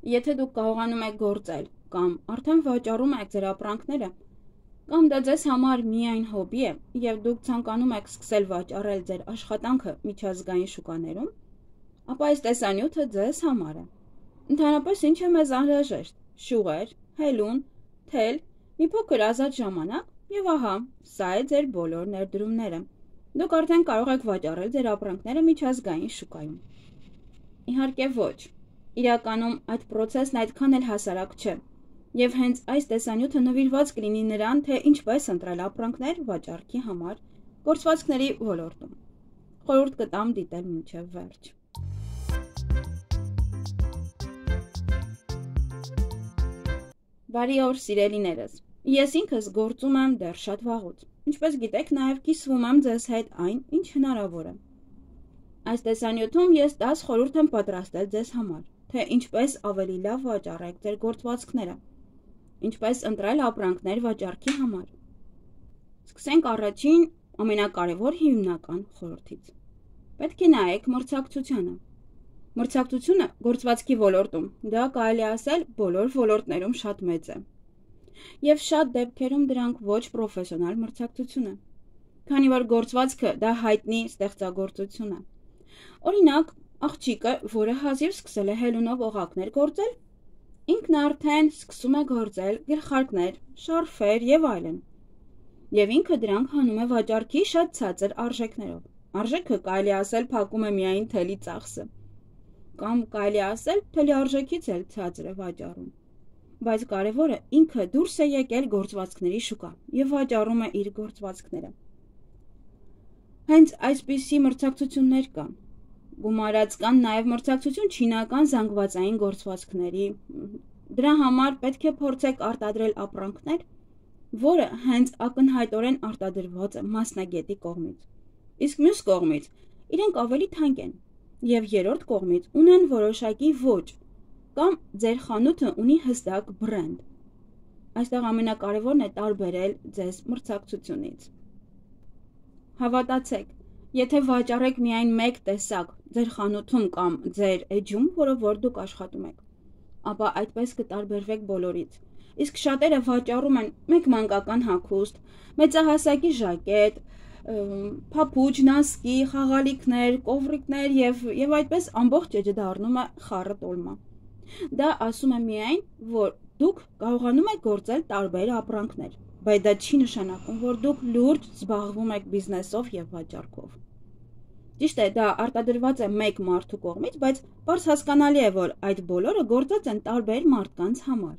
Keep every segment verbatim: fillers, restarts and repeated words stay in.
Եթե դուք կարողանում եք գործել կամ արդեն վաճառում եք ձեր ապրանքները, կամ դա ձեզ համար միայն հոբի է և դուք ցանկանում եք սկսել վաճառել ձեր աշխատանքը միջազգային շուկաներում, ապա այս տեսանյութը ձեզ համար է։ Ընդհանրապես ինչ է մեզ անհրաժեշտ՝ շուղեր, հելուն, թել, մի փոքր ազատ ժամանակ և ահա, սա է ձեր բոլոր ներդրումները։ Դուք արդեն կարող եք վաճառել ձեր ապրանքները միջազգային շուկայում։ Իհարկե ոչ, իրականում այդ պրոցեսն այդքան էլ հասարակ չէ, և հենց այս տեսանյութը նվիրված կլինի նրան, թե ինչպես ընտրել ապրանքներ վաճառքի համար գործվածքների ոլորտում։ Խորհուրդ կտամ դիտել մինչև վերջ։ Բարի օր, սիրելիներս։ Ես ինքս գործում եմ դեռ շատ վաղուց։ Ինչպես գիտեք, նաև կիսվում եմ ձեզ հետ այն, ինչ հնարավոր է։ Այս տեսանյութում ես դաս խորհուրդ եմ պատրաստել ձեզ համար, թե ինչպես ավելի լավ վաճառեք ձեր գործվածքները, ինչպես ընտրել ապրանքներ վաճառքի համար։ Սկսենք առաջին ամենակարևոր հիմնական խորհրդից։ Պետք է նայեք մրցակցությանը։ Մրցակցությունը գործվածքի ոլորտում, դա կարելի ասել բոլոր ոլորտներում շատ մեծ է։ Եվ շատ դեպքերում դրանք ոչ պրոֆեսիոնալ մրցակցություն է, քանի որ գործվածքը դա հայտնի ստեղծագործություն է։ Օրինակ, աղջիկը, որը հազիվ սկսել է հելունով օղակներ գործել, ինքն արդեն սկսում է գործել գլխարկներ, շարֆեր և այլն։ Եվ ինքը դրանք հանում է վաճառքի շատ ցածր արժեքներով։ Արժեքը կարելի ասել փակում է միայն թելի ծախսը, կամ կարելի ասել թելի արժեքից էլ ցածր է վաճառում։ Բայց կարևորը ինքը դուրս է եկել գործվածքների շուկա և վաճառում է իր գործվածքները։ Հենց այսպիսի մրցակցություններ կան։ Գումարած կան նաև մրցակցություն չինական զանգվածային գործվածքների։ Դրա համար պետք է փորձեք արտադրել ապրանքներ, որը հենց ակնհայտորեն արտադրված է մասնագետի կողմից։ Իսկ մյուս կողմից իրենք ավելի թանկ են և երրորդ կողմից ունեն որոշակի ոճ, կամ ձեր խանութը ունի հստակ բրենդ։ Այստեղ ամենակարևորն է տարբերել ձեզ մրցակցությունից։ Հավատացեք, եթե վաճառեք միայն մեկ տեսակ ձեր խանութում կամ ձեր էջում, որով որ դուք աշխատում եք, ապա այդպես կտարբերվեք բոլորից։ Իսկ շատերը վաճառում են մեկ մանկական հագուստ, մեծահասակի ժակետ, փափուչ, նասկի, խաղալիքներ, կովրիկներ և, և այդպես ամբողջ էջը դառնում է խառը տոլմա։ Դա ասում է միայն, որ դուք կարողանում եք գործել տարբեր ապրանքներ, բայց դա չի նշանակում, որ դուք լուրջ զբաղվում եք բիզնեսով և վաճառքով։ Ճիշտ է, դա արտադրված է մեկ մարդու կողմից, բայց պարզ հասկանալի է, որ այդ բոլորը գործած են տարբեր մարդկանց համար։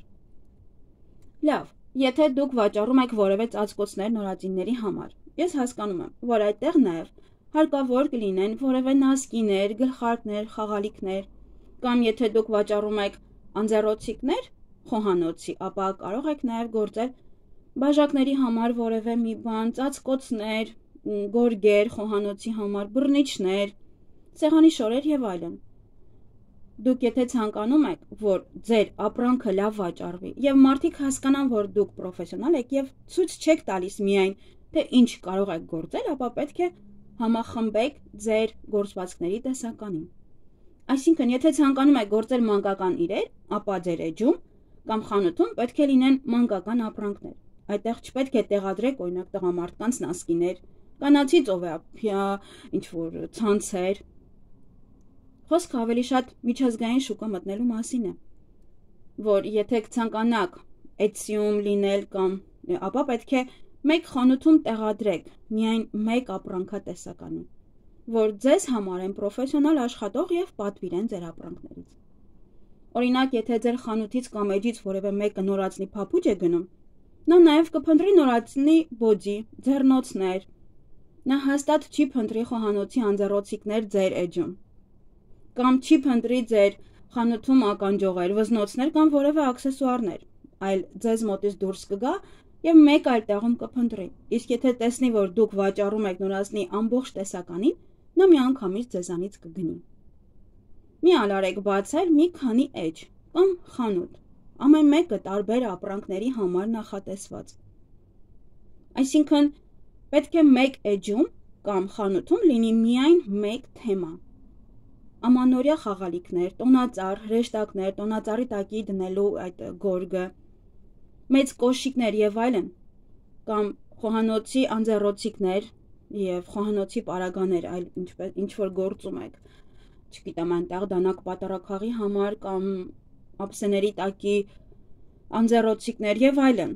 Լավ, եթե դուք վաճառում եք որևէ ծածկոցներ նորածինների համար, ես հասկանում եմ, որ այդտեղ նաև հարկավոր կլինեն որևէ նասկիներ, գլխարկներ, խաղալիքներ, կամ եթե դուք վաճառում եք անձեռոցիկներ խոհանոցի, ապա կարող եք նաև գործել բաժակների համար որևէ մի բան, ծածկոցներ, գորգեր խոհանոցի համար, բռնիչներ, սեղանի շորեր և այլն։ Դուք եթե ցանկանում եք, որ ձեր ապրանքը լավ վաճառվի և մարդիկ հասկանան, որ դուք պրոֆեսիոնալ եք և ցույց չեք տալիս միայն, թե ինչ կարող եք գործել, ապա պետք է համախմբեք ձեր գործվածքների տեսականին։ Այսինքն, եթե ցանկանում եք գործել մանկական իրեր, ապա ձեր էջում կամ խանութում պետք է լինեն մանկական ապրանքներ։ Այդտեղ չպետք է տեղադրեք օրինակ տղամարդկանց նասկիներ, կանացի ծովափիա, ինչ-որ ցանցեր։ Խոսքը ավելի շատ միջազգային շուկա մտնելու մասին է, որ եթե ցանկանաք Etsy-ում լինել կամ, ապա պետք է մեկ խանութում տեղադրեք միայն մեկ ապրանքատեսականի, որ ձեզ համար են պրոֆեսիոնալ աշխատող և պատվիրեն ձեր ապրանքներից։ Օրինակ, եթե ձեր խանութից կամ էջից որևէ մեկը նորածնի փափուչ է գնում, նա նաև կփնտրի նորածնի բոձի, ձեռնոցներ, նա հաստատ չի փնտրի խոհանոցի անձեռոցիկներ ձեր էջում, կամ չի փնտրի ձեր խանութում ականջողեր, վզնոցներ կամ որևէ աքսեսուարներ, այլ ձեզ մոտից դուրս կգա և մեկ այլ տեղում կփնտրի, իսկ եթե տեսնի, որ դուք վաճառում եք նորածնի ամբողջ տեսականին, նա միանգամից ձեզանից կգնի։ Մի ալարեք բացել մի քանի էջ կամ խանութ, ամեն մեկը տարբեր ապրանքների համար նախատեսված։ Այսինքն, պետք է մեկ էջում կամ խանութում լինի միայն մեկ թեմա։ ամանորյա խաղալիքներ, տոնածառ, հրեշտակներ, տոնածառի տակի դնելու այդ գորգը, մեծ կոշիկներ եւ այլն, կամ խոհանոցի անձեռոցիկներ եւ խոհանոցի պարագաներ, այլ ինչպես ինչ որ գործում եք, չգիտեմ, այնտեղ դանակ պատարակախի համար կամ ափսեների տակի անձեռոցիկներ եւ այլն։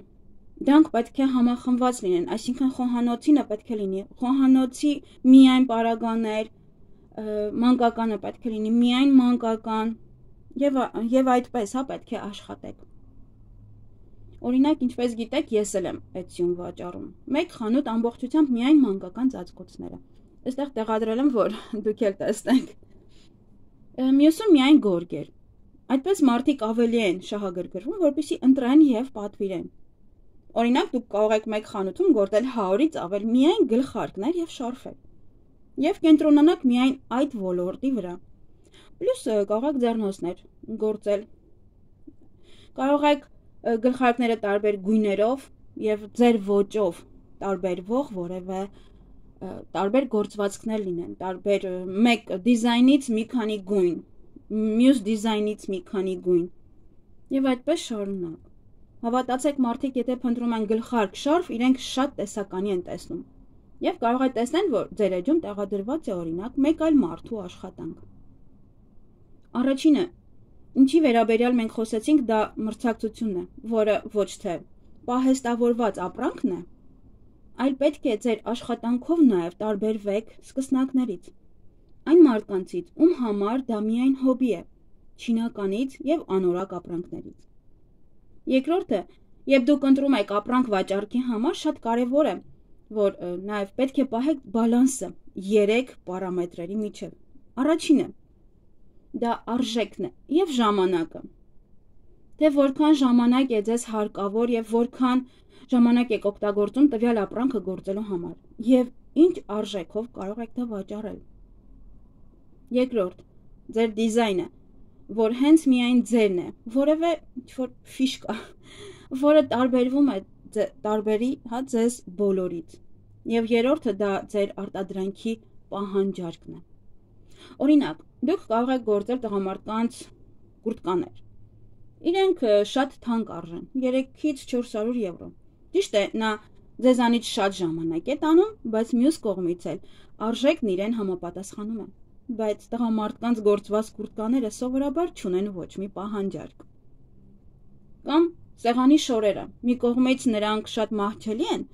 Դրանք պետք է համախմբված լինեն, այսինքն խոհանոցինը պետք է լինի խոհանոցի միայն պարագաներ, մանկականը պետք է լինի միայն մանկական եւ եւ այդպես, հա, պետք է աշխատեք։ Օրինակ, ինչպես գիտեք, ես էլ եմ էցյուն վաճառում։ Մեկ խանութ ամբողջությամբ միայն մանկական ծածկոցները։ Այստեղ տեղադրել եմ, որ դուք էլ տեսնեք։ Մյուսը միայն գորգեր։ Այդպես մարդիկ ավելի են շահագրգռվում, որպեսզի ընտրեն եւ պատվիրեն։ Օրինակ, դուք կարող եք մեկ խանութում գործել հարյուրից ավել միայն գլխարկներ եւ շարֆեր եւ կենտրոնանաք միայն այդ ոլորտի վրա։ Պլյուս կարող եք ձեռնոցներ գործել։ Կարող եք գլխարկները տարբեր գույներով եւ ձեր ոճով տարբերվող որևէ տարբեր գործվածքներ լինեն, տարբեր մեկ դիզայնից մի քանի գույն, մյուս դիզայնից մի քանի գույն եւ այդպես շարունակ։ Հավատացեք, մարդիկ եթե փնտրում են գլխարկ, շարֆ, իրենք շատ տեսականի են տեսնում։ Եվ կարող է տեսնել, որ ձեր էջում տեղադրված է օրինակ մեկ այլ մարդու աշխատանք։ Առաջինը, ինչի վերաբերյալ մենք խոսեցինք, դա մրցակցությունն է, որը ոչ թե պահեստավորված ապրանքն է, այլ պետք է ձեր աշխատանքով նաև տարբերվեք սկսնակներից, այն մարդկանցից, ում համար դա միայն հոբի է, չինականից եւ անորակ ապրանքներից։ Երկրորդը, երբ դուք ընտրում եք ապրանք վաճառքի համար, շատ կարևոր է, որ նաև պետք է պահեք բալանսը երեք պարամետրերի միջև։ Առաջինը, դա արժեքն է եւ ժամանակը։ Թե որքան ժամանակ է ձեզ հարկավոր եւ որքան ժամանակ եք օգտագործում տվյալ ապրանքը գործելու համար եւ ինչ արժեքով կարող եք դա վաճառել։ Երկրորդ, ձեր դիզայնը, որ հենց միայն ձերն է, որևէ ինչ-որ ֆիշկա, որը տարբերվում է տարբերի, հա, ձեզ բոլորից։ Եվ երրորդը դա ձեր արտադրանքի պահանջարկն է։ Օրինակ, դուք կարող եք գործել տղամարդկանց կուրտկաներ։ Իրենք շատ թանկ արժեն, երեքից չորս հարյուր եվրո։ Ճիշտ է, նա ձեզանից շատ ժամանակ է տանում, բայց մյուս կողմից էլ արժեքն իրեն համապատասխանում է։ Բայց տղամարդկանց գործված կուրտկաները սովորաբար չունեն ոչ մի պահանջարկ։ Կամ սեղանի շորերը, մի կողմից նրանք շատ մահճելի են,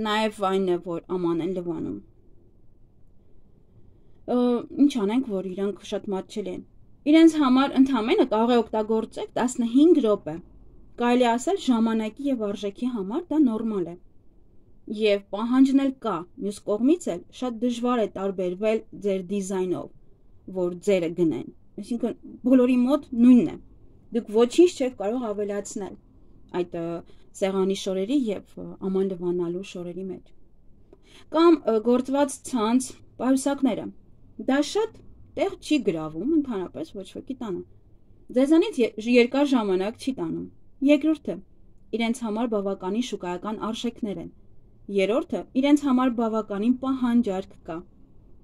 նաև այն է, որ աման են լվանում։ Ինչ անենք, որ իրանք շատ մահճելի են։ Իրենց համար ընդամենը կարող է օգտագործել տասնհինգ րոպե։ Կարելի ասել ժամանակի եւ արժեքի համար դա նորմալ է։ Եվ պահանջն էլ կա, մյուս կողմից էլ շատ դժվար է տարբերվել ձեր դիզայնով, որ ձերը գնեն, այսինքն բոլորի մոտ նույնն է, դուք ոչինչ չեք կարող ավելացնել այդ սեղանի շորերի եւ աման լվանալու շորերի մեջ։ Կամ գործված ցանց պայուսակները, դա շատ տեղ չի գրավում, ընդհանրապես ոչ ոքի տանը, ձեզանից երկար ժամանակ չի տանում։ Երկրորդը, իրենց համար բավականին շուկայական արժեքներ են։ Երրորդը, իրենց համար բավականին պահանջարկ կա։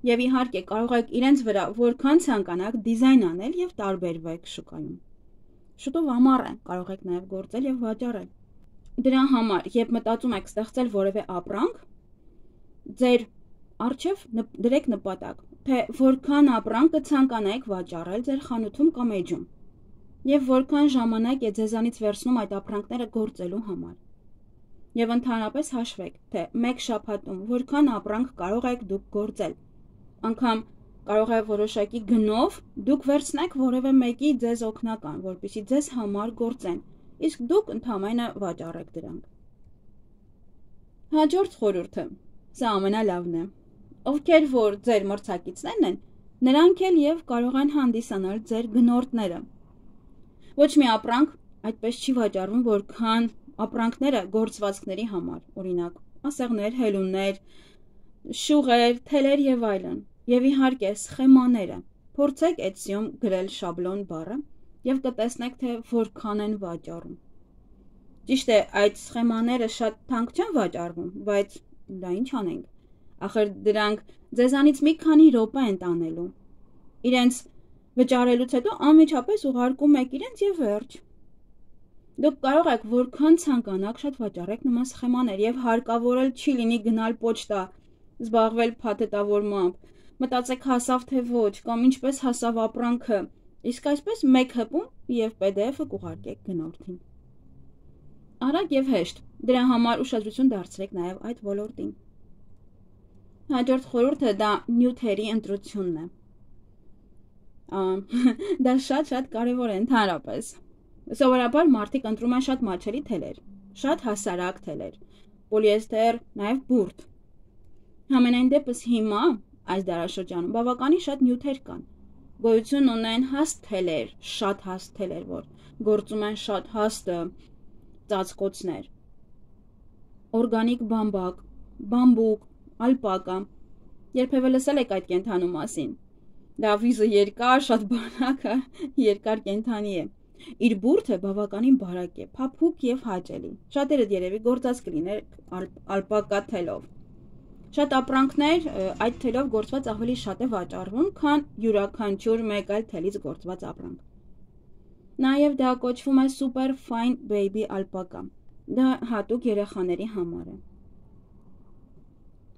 Եվ իհարկե կարող եք իրենց վրա որքան ցանկանաք դիզայն անել եւ տարբերվեք շուկայում։ Շուտով ամառ է, կարող եք նաեւ գործել եւ վաճառել։ Դրա համար, երբ մտածում եք ստեղծել որևէ ապրանք, ձեր առջև դրեք նպատակ, թե որքան ապրանք կցանկանայիք վաճառել ձեր խանութում կամ էջում, եւ որքան ժամանակ է ձեզանից վերցնում այդ ապրանքները գործելու համար։ Եվ ընդհանրապես հաշվեք, թե մեկ շաբաթում որքան ապրանք կարող եք դուք գործել։ Անգամ կարող է որոշակի գնով դուք վերցնեք որևէ մեկի ձեզ օգնական, որպեսզի ձեզ համար գործեն, իսկ դուք ընդհանրապես վաճառեք դրանք։ Հաջորդ խորհուրդը, սա ամենալավն է։ Ովքեր որ ձեր մրցակիցներն են, նրանք էլ եւ կարող են հանդիսանալ ձեր գնորդները։ Ոչ մի ապրանք այդպես չի վաճառվում, որքան ապրանքները գործվածքների համար, օրինակ, ասեղներ, հելուններ, շուղեր, թելեր եւ այլն, եւ իհարկե սխեմաները։ Փորձեք Etsy-ում գրել շաբլոն բառը եւ կտեսնեք, թե որքան են վաճառում։ Ճիշտ է, այդ սխեմաները շատ թանկ չեն վաճառվում, բայց դա ինչ անենք։ Ախր դրանք ձեզանից մի քանի րոպե են տանելու։ իրենց վճարելուց հետո անմիջապես ուղարկում եք իրենց եւ վերջ։ Դուք կարող եք որքան ցանկանաք շատ վաճառեք նման սխեմաներ եւ հարկավոր էլ չի լինի գնալ պոչտա, զբաղվել փաթեթավորմամբ, մտածեք հասավ թե ոչ կամ ինչպես հասավ ապրանքը, իսկ այսպես մեկ հպում եւ պի դի էֆը կուղարկեք գնորդին։ Արագ եւ հեշտ, դրա համար ուշադրություն դարձրեք նաեւ այդ ոլորտին։ Հաջորդ խորհուրդը դա նյութերի ընտրությունն է։ Դա շատ-շատ կարևոր է ընդհանրապես։ Սովորաբար մարդիկ ընտրում են շատ մատչելի թելեր, շատ հասարակ թելեր, պոլիեստեր, նաև բուրդ։ Համենայն դեպս հիմա այս դարաշրջանում բավականին շատ նյութեր կան։ Գոյություն ունեն հաստ թելեր, շատ հաստ թելեր, որ գործում են շատ հաստ ծածկոցներ։ Օրգանիկ բամբակ, բամբուկ, ալպակա։ Երբևէ լսել եք այդ կենդանու մասին։ Դա վիզը երկար, շատ բանակը, երկար կենդանի է։ Իր բուրդը բավականին բարակ է, փափուկ եւ հաճելի։ Շատերը երևի գործած կլիներ ալպակա թելով։ Շատ ապրանքներ այդ թելով գործված ավելի շատ է վաճառվում, քան յուրաքանչյուր մեկ այլ թելից գործված ապրանք։ Նաեւ դա կոչվում է super fine baby ալպակա։ Դա հատուկ երեխաների համար է։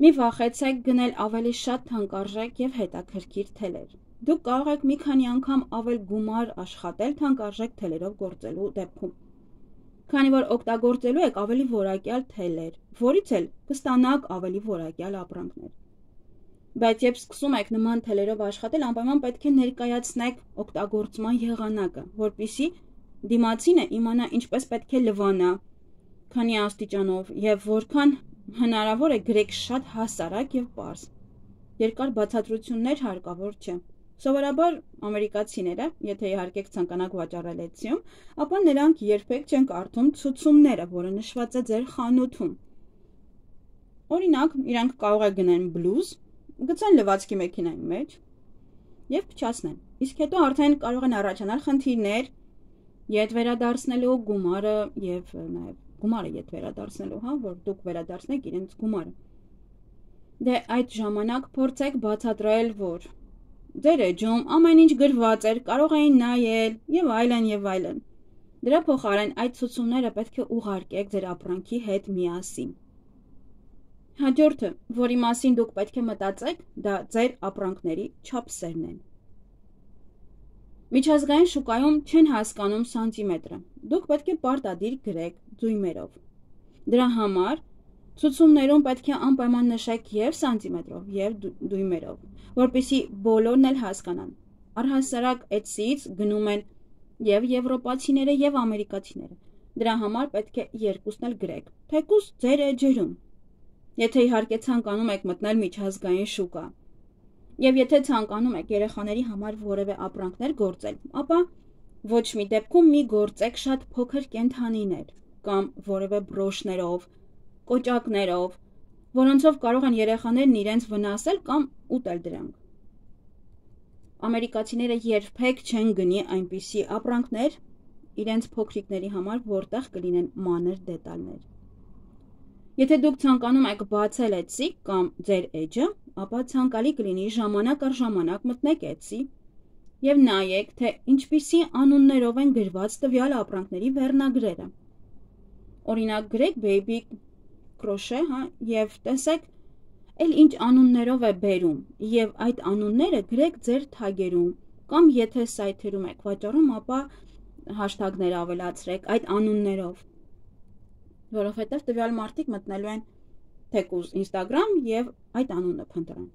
Մի վախեցեք գնել ավելի շատ թանկարժեք եւ հետաքրքիր թելեր։ Դուք կարող եք մի քանի անգամ ավել գումար աշխատել թանկարժեք թելերով գործելու դեպքում։ Քանի որ օգտագործելու եք ավելի որակյալ թելեր, որից էլ կստանաք ավելի որակյալ ապրանքներ։ Բայց երբ սկսում եք նման թելերով աշխատել, անպայման պետք է ներկայացնեք օգտագործման եղանակը, որպեսզի դիմացինը իմանա ինչպես պետք է լվանա, քանի աստիճանով եւ որքան հնարավոր է գրեք շատ հասարակ եւ պարզ։ Երկար բացատրություններ հարկավոր չէ։ Սովորաբար ամերիկացիները, եթե իհարկե ցանկանաք վաճառել Etsy-ում, ապա նրանք երբեք չեն կարդում ցուցումները, որը նշված է ձեր խանութում։ Օրինակ, իրանք կարող է գնեն բլուզ, գցեն լվացքի մեքենայի մեջ եւ փչացնեն։ Իսկ հետո արդեն կարող են առաջանալ խնդիրներ յետ վերադարձնելու գումարը եւ նաեւ գումարը յետ վերադարձնելու, հա, որ դուք վերադարձնեք իրենց գումարը։ Դե այդ ժամանակ փորձեք բացատրել, որ ձեր էջում ամեն ինչ գրված էր, կարող էին նայել եւ այլն եւ այլն։ Դրա փոխարեն այդ ցուցումները պետք է ուղարկեք ձեր ապրանքի հետ միասին։ Հաջորդը, որի մասին դուք պետք է մտածեք, դա ձեր ապրանքների չափսերն են։ Միջազգային շուկայում չեն հասկանում սանտիմետրը։ Դուք պետք է պարտադիր գրեք դույմերով։ Դրա համար ցուցումներում պետք է անպայման նշեք եւ սանտիմետրով, եւ դույմերով, որպեսզի բոլորն էլ հասկանան։ Առհասարակ Etsy-ից գնում են եւ եվրոպացիները եւ ամերիկացիները։ Դրա համար պետք է երկուսն էլ գրեք, թեկուզ ձեր էջերում։ Եթե իհարկե ցանկանում եք մտնել միջազգային շուկա, եւ եթե ցանկանում եք երեխաների համար որևէ ապրանքներ գործել, ապա ոչ մի դեպքում մի գործեք շատ փոքր կենդանիներ կամ որևէ բրոշներով, կոճակներով, որոնցով կարող են երեխաներն իրենց վնասել կամ ուտել դրանք։ Ամերիկացիները երբեք չեն գնի այնպիսի ապրանքներ իրենց փոքրիկների համար, որտեղ կլինեն մանր դետալներ։ Եթե դուք ցանկանում եք բացել Etsy կամ ձեր էջը, ապա ցանկալի կլինի ժամանակ առ ժամանակ մտնեք Etsy եւ նայեք, թե ինչպիսի անուններով են գրված տվյալ ապրանքների վերնագրերը։ Օրինակ գրեք baby crochet, հա, եւ տեսեք էլ ինչ անուններով է բերում եւ այդ անունները գրեք ձեր թագերում կամ եթե սայթերում եք վաճառում, ապա հաշթագներ ավելացրեք այդ անուններով, որովհետեւ տվյալ մարդիկ մտնելու են թեկուզ Instagram եւ այդ անունը փնտրեն։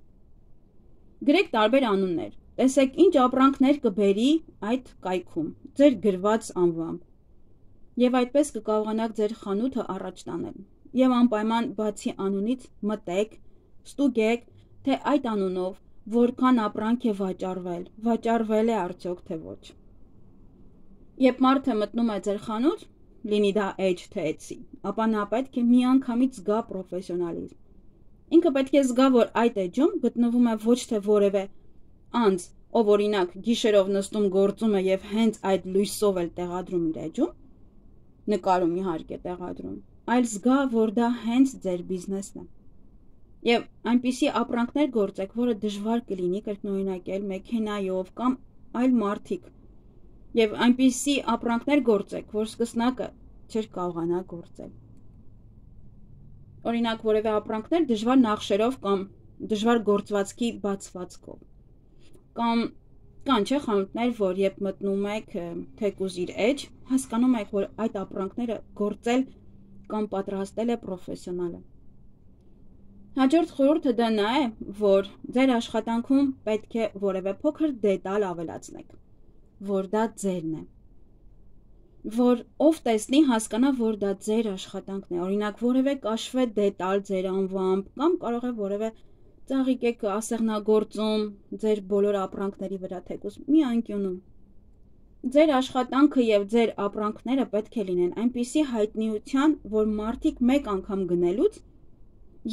Գրեք տարբեր անուններ, տեսեք ինչ ապրանքներ կբերի այդ կայքում, ձեր գրված անվամբ, եւ այդպես կկարողանաք ձեր խանութը առաջ տանել։ Եվ անպայման բացի անունից մտեք, ստուգեք, թե այդ անունով որքան ապրանք է վաճառվել, վաճառվել է արդյոք թե ոչ։ Երբ մարդը մտնում է ձեր խանութ, լինի դա էջ թե Etsy, ապա նա պետք է միանգամից զգա պրոֆեսիոնալիզմ։ Ինքը պետք է զգա, որ այդ էջում գտնվում է ոչ թե որևէ անձ, ով օրինակ գիշերով նստում գործում է եւ հենց այդ լույսով էլ տեղադրում իր էջում, նկարում իհարկե տեղադրում, այլ զգա, որ դա հենց ձեր բիզնեսն է։ Եվ այնպիսի ապրանքներ գործեք, որը դժվար կլինի կրկնօրինակել մեքենայով կամ այլ մարդիկ։ Եվ այնպիսի ապրանքներ գործեք, որ սկսնակը չէր կարողանա գործել։ Օրինակ, որևէ ապրանքներ դժվար նախշերով կամ դժվար գործվածքի բացվածքով։ Կամ կան չէ խանութներ, որ երբ մտնում եք թեկուզ իր էջ, հասկանում եք, որ այդ ապրանքները գործել կամ պատրաստել է պրոֆեսիոնալը։ Հաջորդ խորհուրդը դա նա է, որ ձեր աշխատանքում պետք է որևէ փոքր դետալ ավելացնեք, որ դա ձերն է, որ ով տեսնի հասկանա, որ դա ձեր աշխատանքն է, օրինակ որևէ կաշվե դետալ ձեր անվամբ կամ կարող է որևէ ծաղիկ եք ասեղնագործում ձեր բոլոր ապրանքների վրա թեկուզ մի անկյունում։ Ձեր աշխատանքը եւ ձեր ապրանքները պետք է լինեն այնպիսի հայտնիության, որ մարդիկ մեկ անգամ գնելուց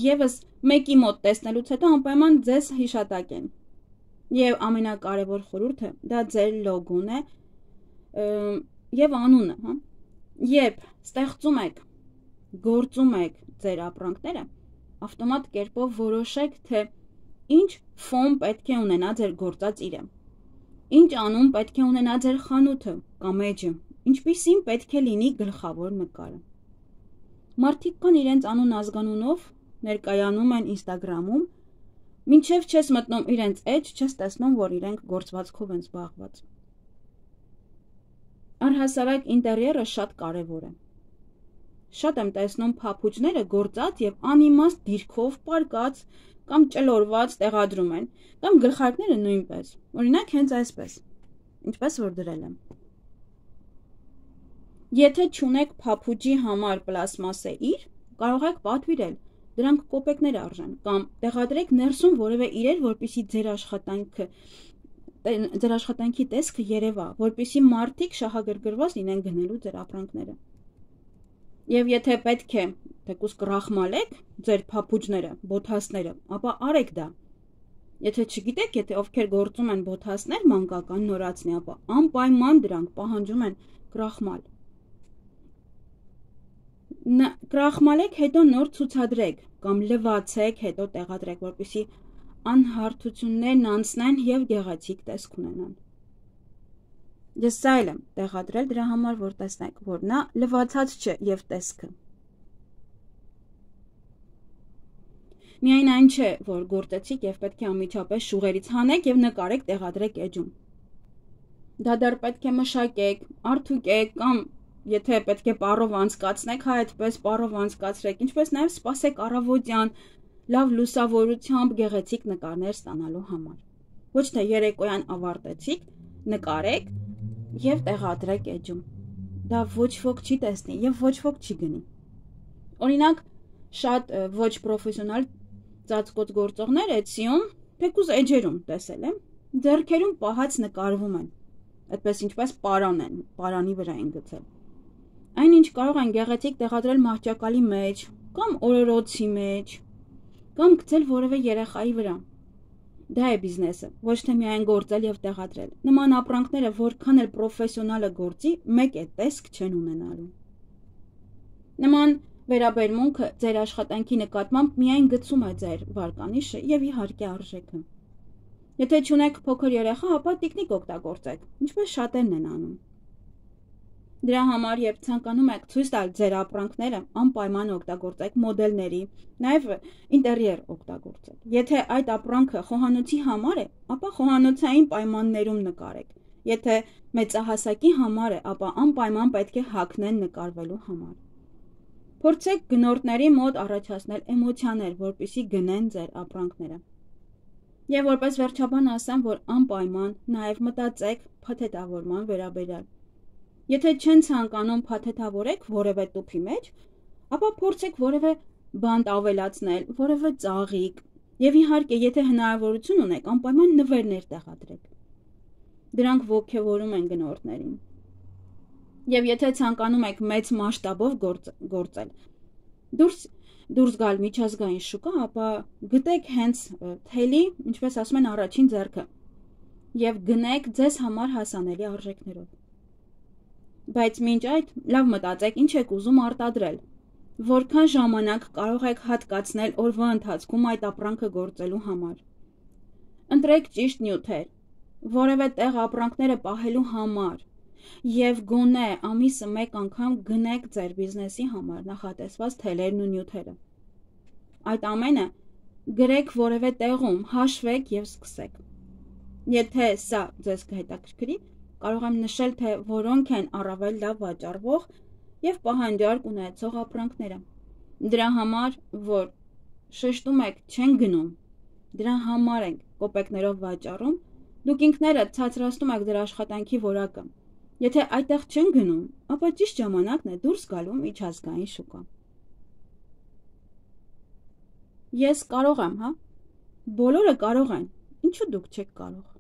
եւս մեկի մոտ տեսնելուց հետո անպայման ձեզ հիշատակեն։ Եվ ամենակարևոր խորհուրդը դա ձեր լոգոն է եւ անունը, հա։ Երբ ստեղծում եք, գործում եք ձեր ապրանքները, ավտոմատ կերպով որոշեք, թե ինչ ֆոն պետք է ունենա ձեր գործած իրը, ինչ անուն պետք է ունենա ձեր խանութը կամ էջը, ինչպիսին պետք է լինի գլխավոր նկարը։ Մարդիկ կան իրենց անուն ազգանունով ներկայանում են Ինստագրամում, մինչև չես մտնում իրենց էջ, չես տեսնում, որ իրենք գործվածքով են զբաղված։ Առհասարակ ինտերիերը շատ կարևոր է։ Շատ եմ տեսնում փափուճները գործած եւ անիմաստ դիրքով պարկած կամ ճլորված տեղադրում են, կամ գլխարկները նույնպես։ Օրինակ հենց այսպես, ինչպես որ դրել եմ։ Եթե չունեք փափուճի համար պլաստմասե իր, կարող եք պատվիրել, դրանք կոպեկներ արժեն, կամ տեղադրեք ներսում որևէ իրեր, որպեսզի ձեր աշխատանքը ձեր աշխատանքի տեսքը երևա, որպեսզի մարդիկ շահագրգռված լինեն գնելու ձեր ապրանքները։ Եվ եթե պետք է թեկուզ կրախմալեք ձեր փափուճները, բոթասները, ապա արեք դա։ Եթե չգիտեք, եթե ովքեր գործում են բոթասներ մանկական նորացնի, ապա անպայման դրանք պահանջում են կրախմալ։ Կրախմալեք, հետո նոր ցուցադրեք կամ լվացեք, հետո տեղադրեք, որպեսզի անհարթություններն անցնեն եւ գեղեցիկ տեսք ունենան։ Ես սա էլ եմ տեղադրել դրա համար, որ տեսնեք, որ նա լվացած չէ եւ տեսքը։ Միայն այն չէ, որ գործեցիք եւ պետք է անմիջապես շուղերից հանեք եւ նկարեք, տեղադրեք էջում։ Դա դեռ պետք է մշակեք, արթուկեք կամ եթե պետք է պարով անցկացնեք, հա այդպես պարով անցկացրեք, ինչպես նաեւ սպասեք առավոտյան լավ լուսավորությամբ գեղեցիկ նկարներ ստանալու համար։ Ոչ թե երեկոյան ավարտեցիք, նկարեք եւ տեղադրեք էջում։ Դա ոչ ոք չի տեսնի եւ ոչ ոք չի գնի։ Օրինակ, շատ ոչ պրոֆեսիոնալ ծածկոց գործողներ Էցիում, թեկուզ էջերում տեսել եմ, ձեռքերում պահած նկարվում են։ Այդպես ինչպես պարան են, պարանի վրա են գցել։ Այնինչ կարող են գեղեցիկ տեղադրել մահճակալի մեջ կամ օրորոցի մեջ կամ գցել որևէ երեխայի վրա։ Դա է բիզնեսը, ոչ թե միայն գործել եւ տեղադրել։ Նման ապրանքները որքան էլ պրոֆեսիոնալը գործի, մեկ է տեսք չեն ունենալու։ Նման վերաբերմունքը ձեր աշխատանքի նկատմամբ միայն գցում է ձեր վարկանիշը եւ իհարկե արժեքը։ Եթե չունեք փոքր երեխա, ապա տիկնիկ օգտագործեք, ինչպես շատերն են անում։ Դրա համար, երբ ցանկանում եք ցույց տալ ձեր ապրանքները, անպայման օգտագործեք մոդելների, նաև ինտերիեր օգտագործեք։ Եթե այդ ապրանքը խոհանոցի համար է, ապա խոհանոցային պայմաններում նկարեք։ Եթե մեծահասակի համար է, ապա անպայման պետք է հագնեն նկարվելու համար։ Փորձեք գնորդների մոտ առաջացնել էմոցիաներ, որպեսզի գնեն ձեր ապրանքները։ Եվ որպես վերջաբան ասեմ, որ անպայման նաև մտածեք փաթեթավորման վերաբերյալ։ Եթե չեն ցանկանում փաթեթավորեք որևէ տուփի մեջ, ապա փորձեք որևէ բանտ ավելացնել, որևէ ծաղիկ, եւ իհարկե, եթե հնարավորություն ունեք, անպայման նվերներ տեղադրեք։ Դրանք ոգևորում են գնորդներին։ Եվ եթե ցանկանում եք մեծ մասշտաբով գործել, դուրս դուրս գալ միջազգային շուկա, ապա գտեք հենց թելի, ինչպես ասում են, առաջին ձեռքը եւ գնեք ձեզ համար հասանելի արժեքներով։ Բայց մինչ այդ լավ մտածեք ինչ եք ուզում արտադրել Որքան ժամանակ կարող եք հատկացնել օրվա ընթացքում այդ ապրանքը գործելու համար։ Ընտրեք ճիշտ նյութեր, որևէ տեղ ապրանքները պահելու համար և գոնե ամիսը մեկ անգամ գնեք ձեր բիզնեսի համար նախատեսված թելերն ու նյութերը։ Այդ ամենը գրեք որևէ տեղում, հաշվեք և սկսեք։ Եթե սա ձեզ կհետաքրքրի, կարող եմ նշել, թե որոնք են առավել լավ վաճառվող և պահանջարկ ունեցող ապրանքները։ Դրա համար, որ շեշտում եք չեն գնում, դրա համար ենք կոպեկներով վաճառում, դուք ինքներդ ցածրացնում եք դրա աշխատանքի որակը։ Եթե այդտեղ չեն գնում, ապա ճիշտ ժամանակն է դուրս գալու միջազգային շուկա։ Ես կարող եմ, հա։ Բոլորը կարող են, ինչու դուք չեք կարող։